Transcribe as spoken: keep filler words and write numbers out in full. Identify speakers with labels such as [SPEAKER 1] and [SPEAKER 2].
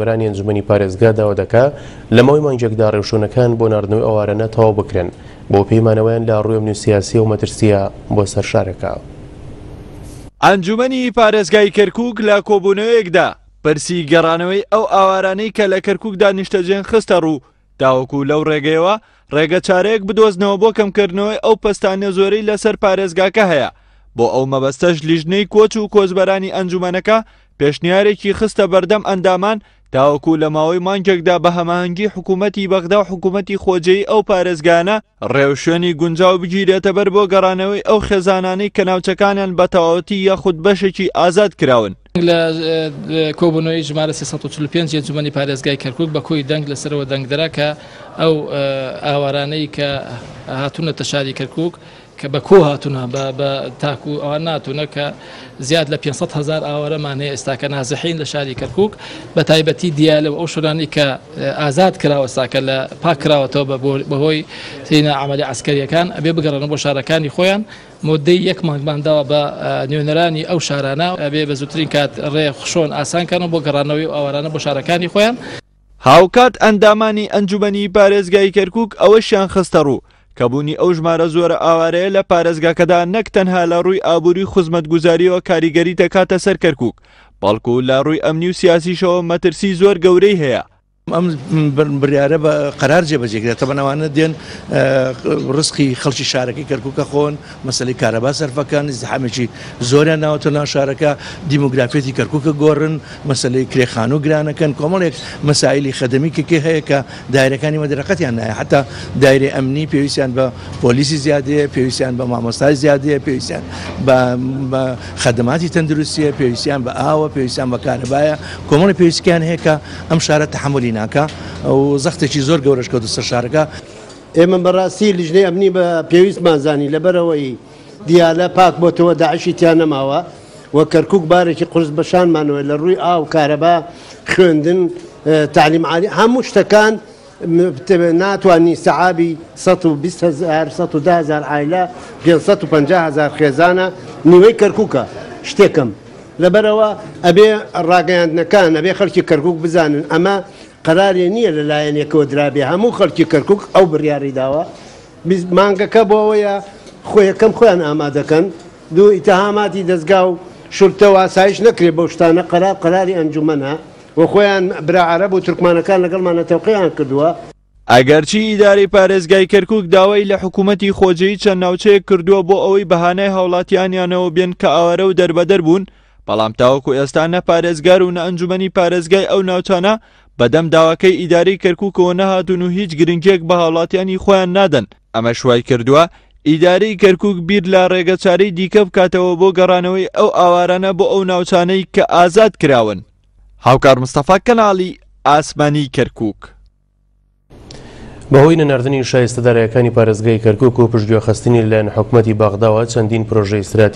[SPEAKER 1] بەرانی ئەنجومەنی پارێزگا داوا دەکا لە ماوەی مانگێکدا ڕێوشوێنەکان بۆ ناردنەوەی ئاوارانە تەواو بکرێن بۆ پەیمانەوەیان لە ڕووی ئەمنی و سیاسی و مەترسیە بۆ سەر شارەکە.
[SPEAKER 2] ئەنجومەنی پارێزگای کەرکوک لە کۆبوونەوەیەکدا پرسی گەڕانەوەی ئەو ئاوارانەی کە لە کەرکوکدا نیشتەجێن خستە ڕوو تاوەکو لەو ڕێگەیەوە ڕێگە چارەیەک بدۆزنەوە بۆ کەمکردنەوەی ئەو پەستانە زۆرەی لەسەر پارێزگاکە هەیە. بۆ ئەو مەبەستەش لیژنەی کۆچ و کۆچبەرانی ئەنجومەنەکە پێشنیارێکی خستە بەردەم ئەندامان تاوەکو لە ماوەی مانگێکدا بە هەماهەنگی حکوومەتی بەغدا و حکوومەتی خۆجێی ئەو پارێزگانە ڕێوشوێنی گونجاو بگیرێتە بەر بۆ گەڕانەوەی ئەو خێزانانەی کە ناوچەکانیان بە تەواوەتی یاخود بەشێکی ئازاد کراون.
[SPEAKER 3] لە کۆبوونەوەی ژمارە سێ سەد و چل و پێنج ئەنجومەنی پارێزگای کەرکوک بە کۆی دەنگ لەسەرەوە دەنگدرا کە ئەو ئاوارانەی کە هاتوونەتە شاری کەرکوک کە بە کۆ هاتوونە بە تاکو ئەوان ناتوونە کە زیاد لە پێنج سەد هەزار ئاوارەمان هەیە ئێستاکە نازحین لە شاری کەرکوک، بە تایبەتی دیالە و ئەو شوێنانەی کە ئازاد کراوە ئێستاکە لە پاک کراوەتەوە بەهۆی تینە عەمەلی عەسکەریەکان ئەبێ بگەڕێنەوە بۆ شارەکانی خۆیان. مدەی یەک مانگمان داوە بە نوێنەرانی ئەو شارانە ئەبێ بە زووترین کات ڕێ خشۆن ئاسانکەنەوە بۆ گەڕانەوەی ئاوارانە بۆ شارەکانی خۆیان.
[SPEAKER 2] هاوکات ئەندامانی ئەنجومەنی پارێزگای کەرکوک ئەوەشیان خستە ڕوو کە بوونی ئەو ژمارە زۆرە ئاوارەیە لە پارێزگاکەدا نەک تەنها لە ڕووی ئابووری خزمەتگوزاریەوە کاریگەری دەکاتە سەر کەرکوک، بەڵکو لە ڕووی ئەمنی و سیاسیشەوە مەترسی زۆر گەورەی هەیە.
[SPEAKER 4] ئەم بڕیارە بە قەرار جێبەجێکرێت، تەبەن ئەوانە دێن ڕزقی خەڵکی شارەکەی کەرکوکە خۆن، مەسەلەی کارەبا سەرفەکان، ئیزدحامێکی زۆریان ناوەتە ناو شارەکە، دیمۆگرافیەتی کەرکوکە گۆڕن، مەسەلەی کرێخان و گرانەکەن، کۆمەڵێک مەسایلی خەدەمی کێ هەیە کە دایرەکانی مەدرەقەتیان نایە، حتا دایرە ئەمنی پێویستیان بە پۆلیسی زیادەیە، پێویستیان بە مامۆستای زیادەیە، پێویستیان بە خەدەماتی تەندروستیە، پێویستیان بە ئاوە، پێویستیان بە کارەبایە، کۆمەڵی پێویستیان هەیە کە ئەم شارە تەحەمولی ناکا و زەختێکی زۆر گەورەش کەوتە سەر شارەکە.
[SPEAKER 5] ئێمە بەڕاستی لیژنەی ئەمنی بە پێویستمان زانی لەبەرەوەی دیالە پاک بۆتەوە داعشی تیا نەماوە و کەرکوک بارێکی قورس بەشانمانەوە لە ڕووی ئاو، کارەبا، خوێندن، تعلیم عالی، هەموو شتەکان ناتوانانی سەعابی سەد و بیست هەزار، سەد و ده هەزار عایلە، پێنج سەد و پەنجا هەزار خێزانە نیوەی کەرکوکە شتێکم. لەبەرەوە ئەبێ ڕاگەیاندنەکان ئەبێ خەڵکی کەرکوک بزانن ئەمە قەرارێ نییە لەلایەنێکەوە درابێ، هەموو خەڵکی کەرکوک ئەو بڕیاری داوە. مانگەکە بۆ ئەوەیە خۆیەکەم خۆیان ئامادەکەن، دوو ئیتەهاماتی دەستگا و شورتە و ئاسایش نەکرێ بەو شتانە، قەرار قەراری ئەنجومەنە و خۆیان برا عەرەب و تورکمانەکان لەگەڵمانە تەوقیان کردووە.
[SPEAKER 2] ئەگەرچی ئیدارەی پارێزگای کەرکوک داوای لە حکوومەتی خۆجێی چەند ناوچەیەک کردووە بۆ ئەوەی بەهانای هاوڵاتیانیانەوە بێن کە ئاوارە و دەربەدەر بوون، بەڵام تاوەکو ئێستا نە پارێزگار و نە ئەنجومەنی پارێزگای ئەو ناوچانە بەدەم داواکەی ئیدارەی کەرکوکەوە نەهاتوون و هیچ گرنگیەک بە هاوڵاتیانی خۆیان نادەن. ئەمەش وای کردووە ئیدارەی کەرکوک بیر لە ڕێگەچارەی دیکە بکاتەوە بۆ گەڕانەوەی ئەو ئاوارانە بۆ ئەو ناوچانەی کە ئازاد کراون. هاوکار مستەفا، کەناڵی ئاسمانی کەرکوک.
[SPEAKER 1] بەهۆی نەناردنی شایستەدارەکانی پارێزگای کەرکوک و پشتگوێخستنی لەلایەن حکومەتی بەغداوە چەندین پرۆژەی استراتیژی